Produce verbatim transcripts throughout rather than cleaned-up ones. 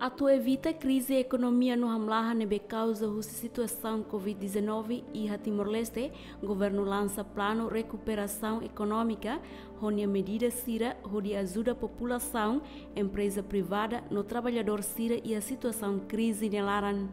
Atu evita krize ekonomia no hamlaha ne'ebé kauza husi situasaun covid dezanove iha Timor-Leste, governu lansa planu rekuperasaun ekonómika, ho nia medida sira hodi ajuda populasaun, empreza privada no traballadór sira iha situasaun krize nia laran.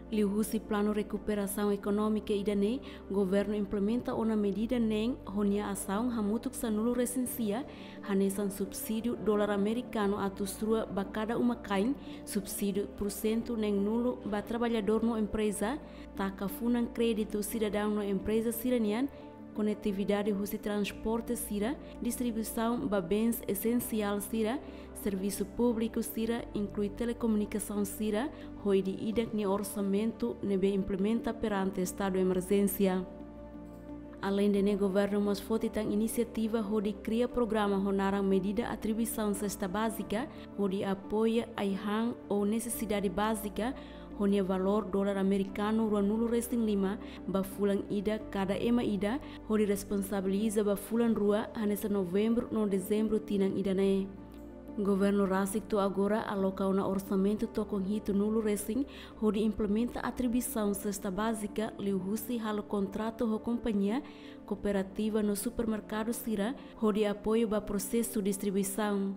Liuhusi planu rekuperasaun ekonómika ida-ne'e, governu implementa ona medida neen ho nia asaun hamutuk sanulu-resin-sia, hanesan subsídiu dolar amerikanu atus rua ba kada uma-kain, subsídiu pursentu neenulu ba traballadór no empreza, taka funan kréditu sidadaun no empreza sira-nian, konetividade husi transporte sira, distribuisaun ba bens esensiál sira, servisu públiku sira, inklui telekomunikasaun sira, ho ida-idak nia orsamentu ne'ebé implementa perante estadu emerjénsia. Aleinde ne'e, governu mós foti tan inisiativa hodi kria programa ho naran medida atribuisaun sesta bázika, hodi apoia ai-han ou nesesidade bázika, ho nia valór dolar amerikanu ruanulu-resin-lima ba fulan ida kada ema ida, hodi responsabiliza ba fulan rua, hanesan Novembru no Dezembru tinan ida-ne'e. Governu rasik to'o agora aloka ona orsamentu tokon hitunulu-resin, hodi implementa atribuisaun sesta bázika, liuhusi halo kontratu ho kompañia, kooperativa no supermerkadu sira, hodi apoiu ba prosesu distribuisaun.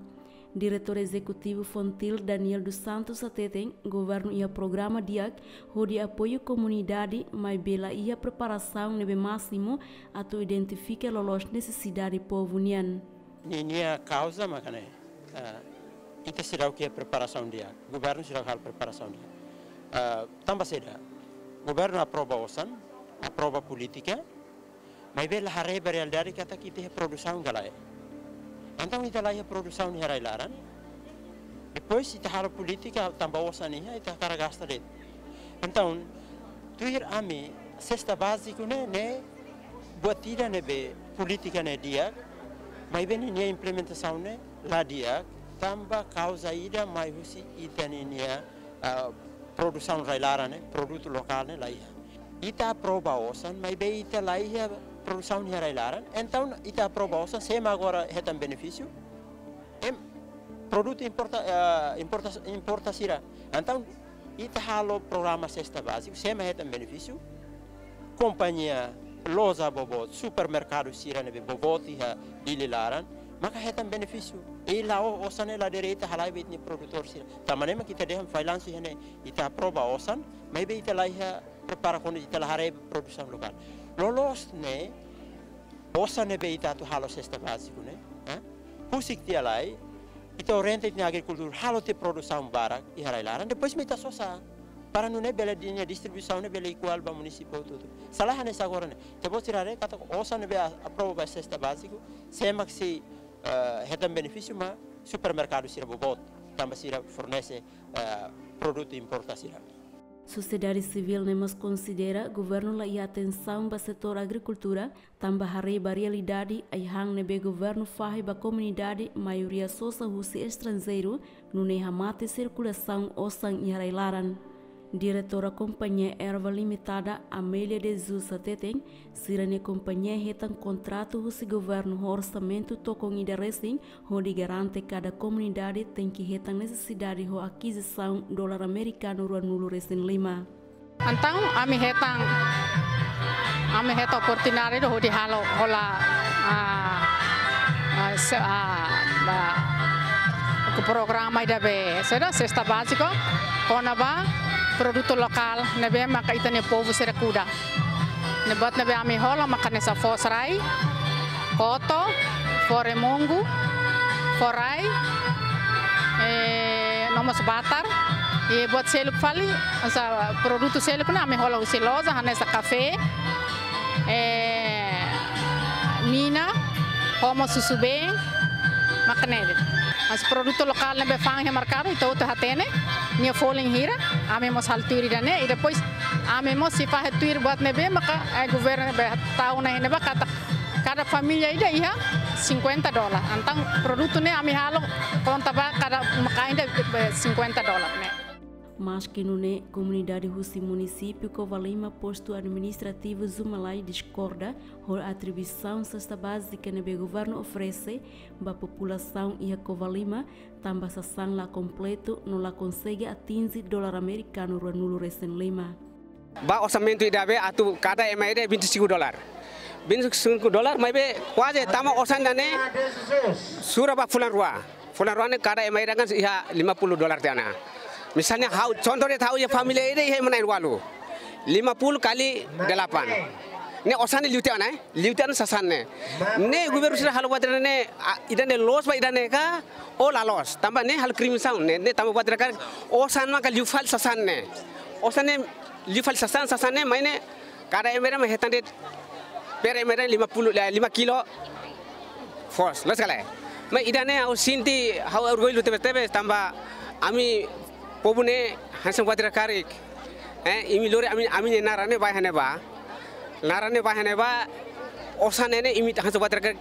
Diretór Ezekutivu Fontil, Daniel dos Santos, hateten, governu iha programa di'ak hodi apoiu komunidade, maibé la iha preparasaun ne'ebé másimu atu identifika loloos nesesidade povu nian. Ninia kauza mak ne'e, ah, ita seidauk iha preparasaun di'ak, governu seidauk halo preparasaun di'ak. Ah, tanba saida? Governu aprova osan, aprova polítika, maibé la haree ba realidade katak ita iha produsaun ka lae. Entaun ita la iha produsaun iha rai-laran. Depois ita halo polítika tanba osan iha, ita hakarak gasta de'it. Entaun, tuir ami, sesta báziku ne'e, ne'e buat ida ne'ebé polítika ne'e di'ak, maibé ninia implementasaun ne'e la di'ak, tanba kauza ida mai husi ita ninia, ah, produsaun rai-laran ne'e, produtu lokál ne'e la iha. Ita aprova osan, maibé ita la iha produsaun iha rai-laran. Entaun, ita aprova osan, sé mak agora hetan benefísiu? Em, produtu importa, eh, importa, importa sira. Entaun, ita halo programa sesta báziku, sé mak hetan benefísiu? Kompañia, loja boboot, supermerkadu sira ne'ebé boboot iha Dili laran, maka hetan benefísiu. I la'o osan ne'e la direta halai ba ita-nia produtór sira. Tanba ne'e mak ita dehan fallansu iha ne'e, ita aprova osan, maibé ita la iha prepara kuandu ita la haree produsaun lokál. Loloos ne'e, osan ne'ebé ita atu halo sesta báziku ne'e, eh? Husik tiha lai, ita orienta ita-nia agrikultór halo tiha produsaun barak iha rai-laran, depois mak ita sosa. Para nune'e bele ninia distribuisaun ne'e bele iguál ba munisípiu hotu-hotu. Sala hanesan agora ne'e. Ita-boot sira haree katak osan ne'ebé a-, aprova ba sesta báziku, sé mak sei, eh, hetan benefísiu mak supermerkadu sira boboot, tanba sira fornese, eh, produtu importa sira. Sosiedade sivíl ne'e mós konsidera governu la iha atensaun ba setór agrikultura, tanba haree ba realidade ai-han ne'ebé governu fahe ba komunidade maioria sosa husi estranjeiru, nune'e hamate sirkulasaun osan iha rai-laran. Diretora Kompañia Erva Limitada, Amélia de Jesus, hateten, sira-nia kompañia hetan kontratu husi governu ho orsamentu tokon ida resin, hodi garante kada komunidade tenke hetan nesesidade ho akizisaun dolar amerikanu ruanulu-resin-lima. Entaun, ami hetan, ami hetan oportunidade hodi halo hola, ah, ah, se-, ah, ba, ku programa ida be, saida, sesta báziku, kona-ba produtu lokál ne'ebé maka ita-nia povu sira kuda. Ne'e buat ne'ebé ami hola maka hanesan foos rai, koto, fó remungu, fó rai, eh, no mós batar, i buat seluk fali, hanesan produtu seluk ne'e ami hola husi loja, hanesan kafé, eh, mina, ho mós susubeen, mak ne'e de'it. Mas produtu lokál ne'ebé fa'an iha merkadu, ita hotu hatene nia folin hira, ami mós halo tuir ida-ne'e, i depois ami mós sei fahe tuir buat ne'ebé maka, eh, governu ne'ebé tau ona iha ne'ebá katak kada família ida iha Cinquenta dólar. Entaun produtu ne'e ami halo konta ba kada uma-kain ida, eh, cinquenta dólar ne'e. Maski nune'e, komunidade husi munisípiu Covalima, postu administrativu Zumalai, diskorda ho atribuisaun sesta bázika ne'ebé governu oferese ba populasaun iha Covalima, tanba sasán la kompletu no la konsege atinje dolar amerikanu ruanulu-resin-lima. Ba orsamentu ida be atu kada ema ida vinte e cinco dólar. Vinte e cinco dólar, maibé kuaze tama osan ida-ne'e sura ba fulan rua. Fulan rua ne'e kada ema ida kan iha lima puluh dólar tiha ona. Misalnya ha'u, contoh de'it ha'u iha família ida iha ema na'in-ualu. Lima puluh kali delapan. Ne'e osan ne'e liu tiha ona, eh? Liu tiha ona sasán ne'e. Ne'e governu sira halo buat ida-ne'e, ah, ida-ne'e loos ba ida-ne'e ka, ou la loos. Tanba ne'e halo kriminalizasaun, ne'e, ne'e tanba buat ida karik osan maka liu fali sasán ne'e. Osan ne'e liu fali sasán, sasán ne'e mai ne'e kada ema ida mak hetan de'it per ema ida lima puluh, eh, lima kilo. Foos, loos ka lae? Maibé ida-ne'e ha'u sente, ha'u orgullu tebes-tebes tanba ami povu ne'e hanesan buat ida karik. Eh, imi lori ami, ami-nia naran ne'e ba iha ne'ebá. Naran ne'e ba iha ne'ebá, osan ne'e ne'e imi hanesan buat ida karik.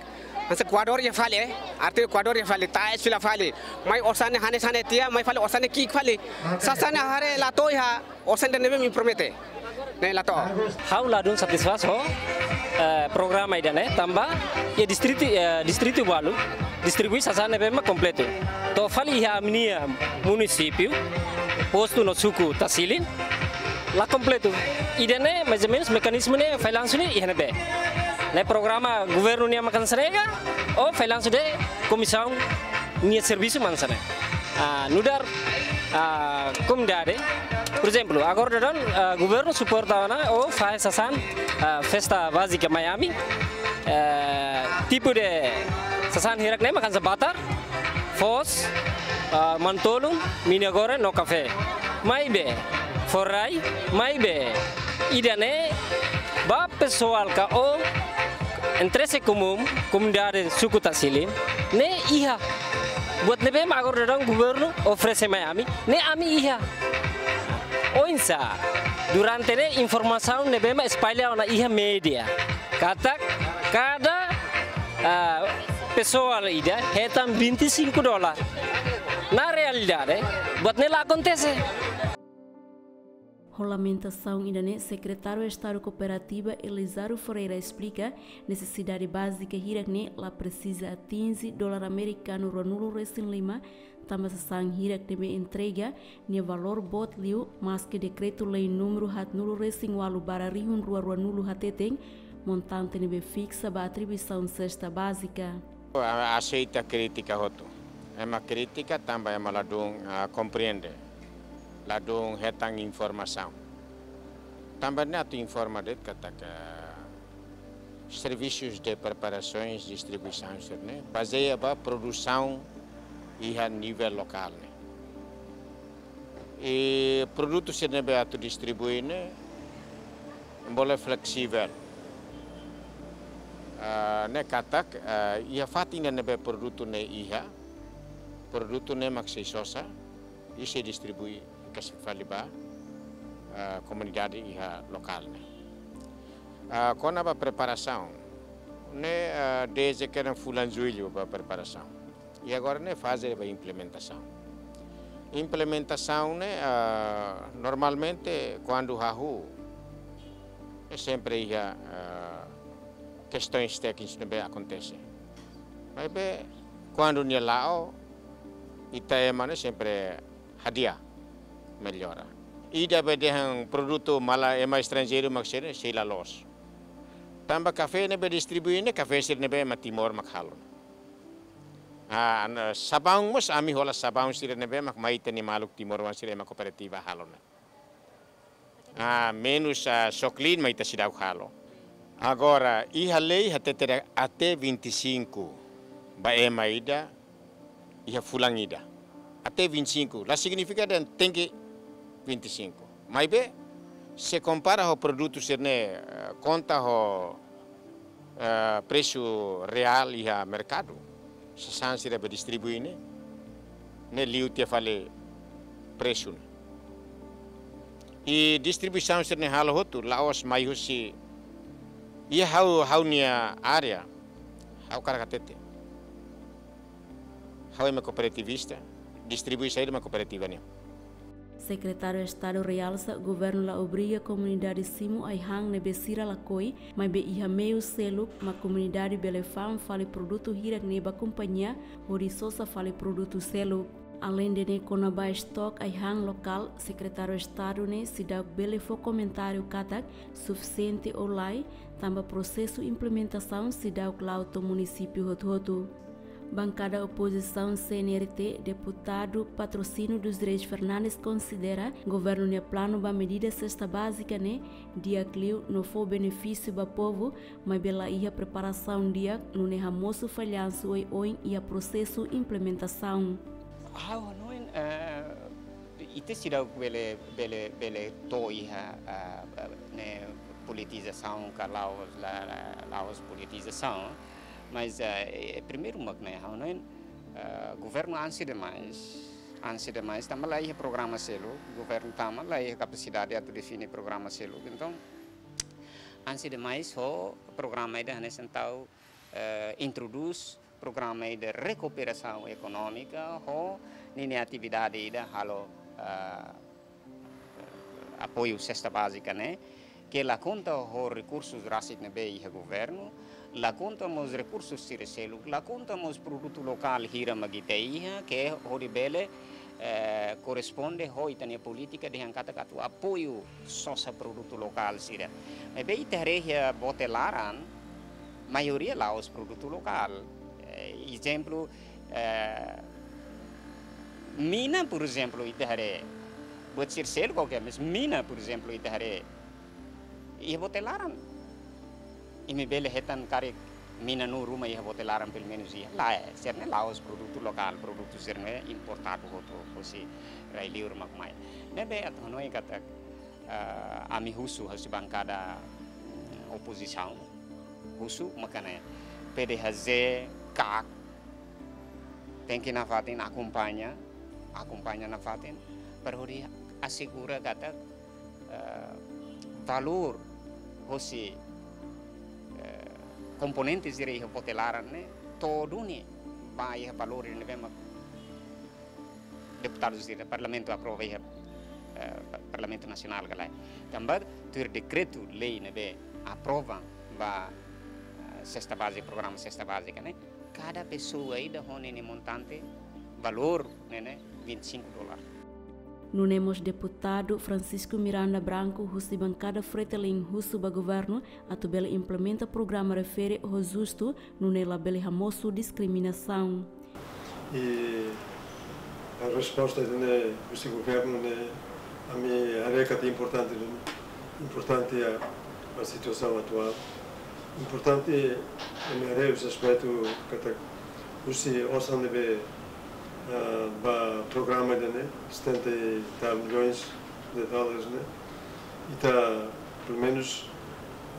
Hanesan koadór iha fali, eh. Arti koadór iha fali, taes fila fali. Mai osan ne'e hanesan ne'e tiha, mai fali osan ne'e ki'ik fali. Sasán ne'e haree la to'o iha osan ida ne'ebé imi promete. Ne'e la to'o. Ha'u ladún satisfás ho, eh, programa ida-ne'e, tanba iha distritu, eh, distritu balu distribui sasán ne'ebé mak kompletu. To'o fali iha ami-nia munisípiu, postu no suku Tasilin, la kompletu. Ida-ne'e, mais ou menus, mekanizmu ne'e, fallansu ne'e iha ne'ebé? Ne'e programa governu nian mak hanesan ne'e ka, ou fallansu de komisaun nia servisu mak hanesan ne'e? Ah, nu'udar, ah, komunidade, por ezemplu, agora daudaun, ah, governu suporta ona ou fahe sasán, ah, sesta bázika mai ami, eh, tipu de sasán hirak ne'e mak hanesan batar, foos, ah, manu-tolun, minya-goreng no kafé. Maibé, fó rai, maibé ida-ne'e ba pesoál ka ou interese komún, komunidade suku Tasilin, ne'e iha. Buat ne'ebé mak agora daudaun governu oferese mai ami, ne'e ami iha. Oinsá, durante ne'e informasaun ne'ebé mak espalla ona iha média katak kada, ah, pesoál ida hetan vinte e cinco dólar. Na realidade, buat ne'e la akontese. Ho lamentasaun ida-ne'e, Sekretáriu Estadu Kooperativa Elizardo Ferreira esplika, nesesidade bázika hirak ne'e la presiza atinje dolar amerikanu ruanulu-resin-lima, tanba sasán hirak ne'ebé entrega nia valór boot liu, maski Dekretu-Lei númeru haatnulu-resin-ualu barra rihun rua ruanulu hateten montante ne'ebé fiksa ba atribuisaun sesta bázika. Aseita krítika hotu. Ema kritika tanba ema ladún, ah, komprende. Ladún hetan informasaun. Tanba ne'e atu informa de'it katak serviços de preparações, distribuição sira-ne'e bazeia ba produsaun iha nivel lokál ne'e. I produtu sira ne'ebé atu distribui ne'e bele fleksivel. Ah, ne'e katak, ah, iha fatin ida ne'ebé produtu ne'e iha, produtu ne'e mak sei sosa, i sei distribui, kasi fali ba, ah, komunidade iha lokál ne'e. Ah, kona-ba preparasaun, ne'e, ah, dezde kedas fulan Jullu ba preparasaun. I agora ne'e faze ba implementasaun. Implementasaun ne'e, ah, normalmente kuandu hahú, ne'e sempre iha, ah, kestaun téknika ne'ebé akontese. Maibé kuandu nia la'o, ita ema ne'e sempre hadi'a, mellora. Ida be dehan produtu malae ema estranjeiru mak sira sei la loos. Tanba kafé ne'ebé distribui ne'e, kafé sira ne'ebé ema Timor mak halo. Ah, an-, sabaun mós ami hola sabaun sira ne'ebé mak mai ita-nia maluk timoroan sira ema kooperativa halo ne'e. Ah, menus, ah, Soclean mai ita seidauk halo. Agora, iha lei hatete dehan até vinte e cinco ba ema ida iha fulan ida. Até vinte e cinco, la signifika dehan tenke vinte e cinco. Maibé, se kompara ho produtu sira-ne'e, eh, konta ho, eh, presu reál iha merkadu, sasán sira be distribui ne'e, ne'e liu tiha fali presu ne'e. I distribuisaun sira-ne'e halo hotu, la'ós mai husi, iha ha'u, ha'u-nia área, ha'u hakarak hatete. Ha'u ema kooperativista, distribui saida mak kooperativa nian. Sekretáriu Estadu realsa, governu la obriga komunidade simu ai-han ne'ebé sira lakohi, maibé iha meiu seluk mak komunidade bele fa'an fali produtu hirak-ne'e ba kompañia, hodi sosa fali produtu seluk. Aleinde ne'e, kona-ba estoke ai-han lokál, Sekretáriu Estadu ne'e seidauk bele fó komentáriu katak sufisiente ou lae, tanba prosesu implementasaun seidauk la'o to'o munisípiu hotu-hotu. Bankada opozisaun C N R T, deputadu Patrocínio dos Reis Fernandes konsidera governu nia planu ba medida sesta bázika ne'e di'ak liu no fó benefísiu ba povu, maibé la iha preparasaun di'ak, nune'e hamosu fallansu oioin iha prosesu implementasaun. Ha'u hanoin, eh, ita seidauk bele, bele, bele to'o iha, ah, ne'e politizasaun ka la'ós, la, la, la'ós politizasaun. Mas, eh, primeiru mak ne'e, ha'u hanoin, eh, governu ansi demais, ansi demais, tanba la iha programa seluk, governu tama la iha kapasidade atu define programa seluk. Entaun, ansi demais ho programa ida hanesan tau, eh, introdús programa ida rekuperasaun ekonómika ho ninia atividade ida halo, eh, apoiu sesta bázika ne'e, ke la konta ho rekursus rasik ne'ebé iha governu, la konta mós rekursus sira seluk, la konta mós produtu lokál hira mak ita iha, ke hodi bele, eh, korresponde ho ita-nia polítika dehan katak atu apoiu sosa produtu lokál sira. Maibé ita haree iha bote laran, maioria la'ós produtu lokál. Eh, ezemplu, eh, mina, por ezemplu, ita haree, buat sira seluk oke, mas mina, por ezemplu, ita haree iha bote laran. Imi bele hetan karik mina na'in ruma iha bote laran, pelumenus iha. Lae, sira-ne'e la'ós produtu lokál, produtu sira-ne'e importadu hotu, hosi rai-liur mak mai. Ne'ebé atu hanoin katak, eh, ami husu, husi bankada, mm, opozisaun. Husu maka ne'e, P D H Z, kak, tenke nafatin akompaña, akompaña nafatin, para hodi asegura katak, eh, valór hosi, eh, komponente sira iha bote laran ne'e to'o duni ba iha valór ne'ebé mak deputadu sira Parlamentu aprova iha, eh, pa-, Parlamentu Nasionál ka lae. Tanba tuir dekretu lei ne'ebé aprova ba, eh, sesta bázika, programa sesta bázika ne'e, kada pesoa ida ho ninia montante, valór ne'e, ne'e vinte e cinco dólar. Nune'e mós deputadu Francisco Miranda Branco, husi bankada Fretilin, husu ba governu atu bele implementa programa refere ho justu, nune'e labele hamosu diskriminasaun. I resposta ne'e husi governu ne'e, ami haree katak importante, importante a, a situasaun atuál. Importante ami haree husi aspetu katak husi osan ne'ebé, ah, ba programa ida-ne'e, setenta e tal milhões de dólares ne'e, ita, pelumenus,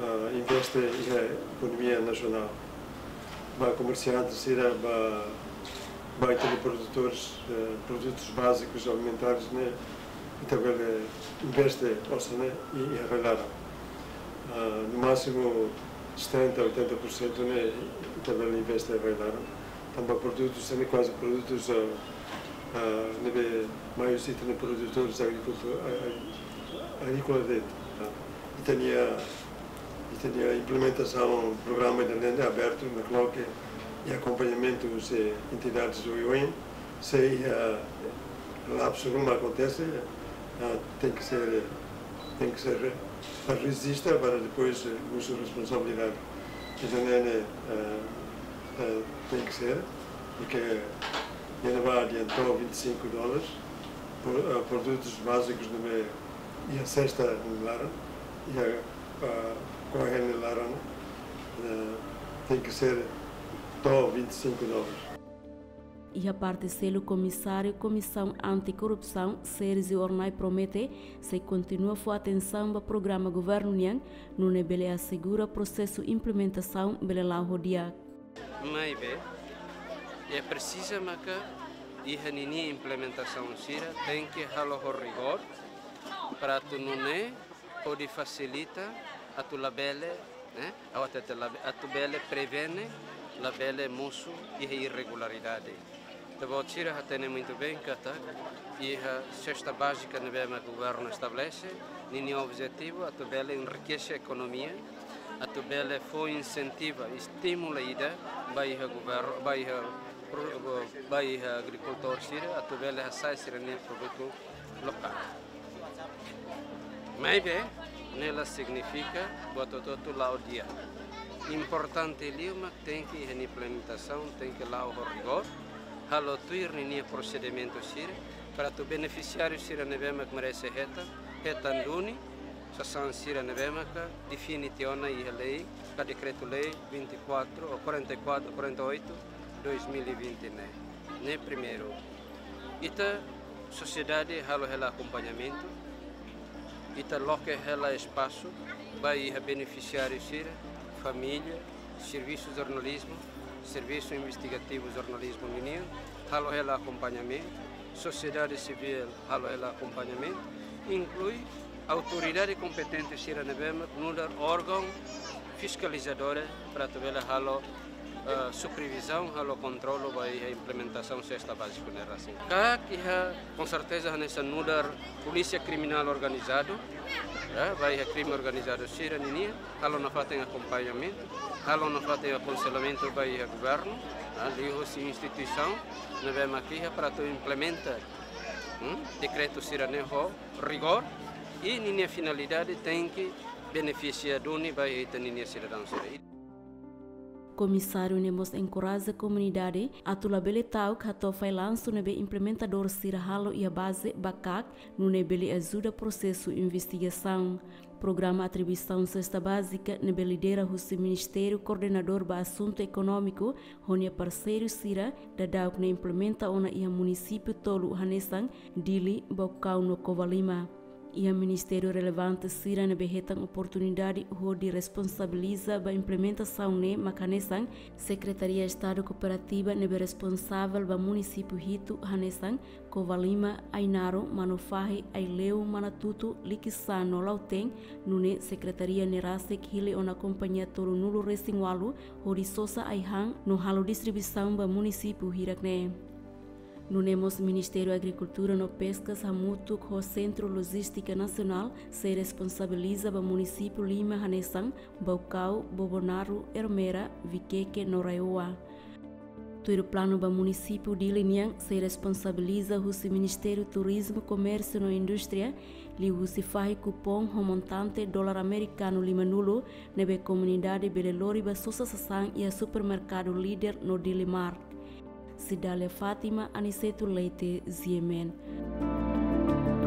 ah, investe iha ekonomia nasionál. Ba komersiante sira, ba, ba ita-nia produtores, eh, produtus bázikus alimentares ne'e, ita bele investe osan ne'e iha rai-laran. Ah, no másimu setenta, oitenta por cento ne'e ita bele investe iha rai-laran. Tanba produtus ne'e kuaze produtus, ah, ah, ne'ebé maius ita-nia produtores agrikultu-, a-, a-, agríkola de'it. Ita-nia, ita-nia implementasaun programa ida-ne'e abertu nakloke i akompañamentu husi entidades oioin, se iha lapsu ruma akontese, ah, tenke ser, tenke ser, ah, rejista para depois, eh, husu responsabilidade. Entaun ne'e, eh, eh, tenke ser, porke ne'ebá dehan to'o vinte e cinco dólares, pro-, eh, produtus bázikus ne'ebé iha sesta nia laran, iha, ah, ko'alia nia laran, eh, tenke ser to'o vinte e cinco dólares. Iha parte seluk, Komisáriu Komisaun Anti-Korrupsaun, Sérgio Hornai, promete sei kontinua fó atensaun ba programa governu nian, nune'e bele asegura prosesu implementasaun bele la'o ho di'ak. Maibé, iha presiza maka iha ninia implementasaun sira tenke halo ho rigór, para atu nune'e hodi fasilita atu labele, eh, atu, atu labe-, atu bele prevene, labele mosu iha irregularidade. Ita-boot sira hatene muitu bein katak iha sesta bázika ne'ebé mak governu estabelese, ninia objetivu atu bele enrikese ekonomia, atu bele fó insentiva, estimula ida ba iha governu, ba iha pro-, ba iha agrikultór sira, atu bele hasa'e sira-nia produtu lokál. Maibé, ne'e la signifika buat hotu-hotu la'o di'ak. Importante liu mak tenke iha nia implementasaun, tenke la'o ho rigór, halo tuir ninia prosedimentu sira, para atu benefisiáriu sira ne'ebé mak merese hetan, hetan duni, sasán sira ne'ebé maka define tiha ona iha lei, ka dekretu-lei vinte e quatro ou quarenta e quatro, quarenta e oito, dois mil e vinte ne'e. Ne'e primeiru. Ita sosiedade halo hela akompañamentu, ita loke hela espasu ba iha benefisiáriu sira, família, servisu jornalizmu, servisu investigativu jornalizmu ninian, halo hela akompañamentu, sosiedade sivíl halo hela akompañamentu, inklui autoridade kompetente sira ne'ebé mak nu'udar órgaun fiskalizadór para atu bele halo, eh, supervizaun, halo kontrolu ba iha implementasaun sesta bázika ne'e rasik. KAK iha, com certeza, hanesan nu'udar polísia kriminál organizadu, eh, ba iha krime organizadu sira ninian, halo nafatin akompañamentu, halo nafatin akonselhamentu ba iha governu, eh, liuhusi instituisaun ne'ebé mak iha para atu implementa, hmm, dekretu sira-ne'e ho rigór, i ninia finalidade tenke benefisia duni ba ita-ninia sidadaun sira. Komisáriu ne'e mós enkoraja komunidade atu labele ta'uk hato'o fallansu ne'ebé implementadór sira halo iha baze ba KAK, nune'e bele ajuda prosesu investigasaun. Programa atribuisaun sesta bázika ne'ebé lidera husi Ministériu Koordenadór ba Asuntu Ekonómiku ho nia parseiru sira daudauk ne'e implementa ona iha munisípiu tolu hanesan Dili, Baucau no Covalima. Iha ministériu relevante sira ne'ebé hetan oportunidade hodi responsabiliza ba implementasaun ne'e mak hanesan Sekretaria Estadu Kooperativa ne'ebé responsavel ba munisípiu hitu hanesan Covalima, Ainaro, Manufahi, Aileu, Manatuto, Likisá no Lautém, nune'e sekretaria ne'e rasik hili ona kompañia tolunulu-resin-ualu hodi sosa ai-han no halo distribuisaun ba munisípiu hirak-ne'e. Nune'e mós Ministériu Agrikultura no Peskas hamutuk ho Sentru Lojístika Nasionál sei responsabiliza ba munisípiu lima hanesan Baucau, Bobonaro, Ermera, Viqueque no RAEOA. Tuir planu ba munisípiu Dili nian sei responsabiliza husi Ministériu Turizmu, Komérsiu no Indústria, liuhusi fahe kupoun ho montante dolar amerikanu limanulu, ne'ebé komunidade bele lori ba sosa sasán iha supermerkadu Líder no Dili Mart. Cidália Fátima, Aniceto Leite, G M N.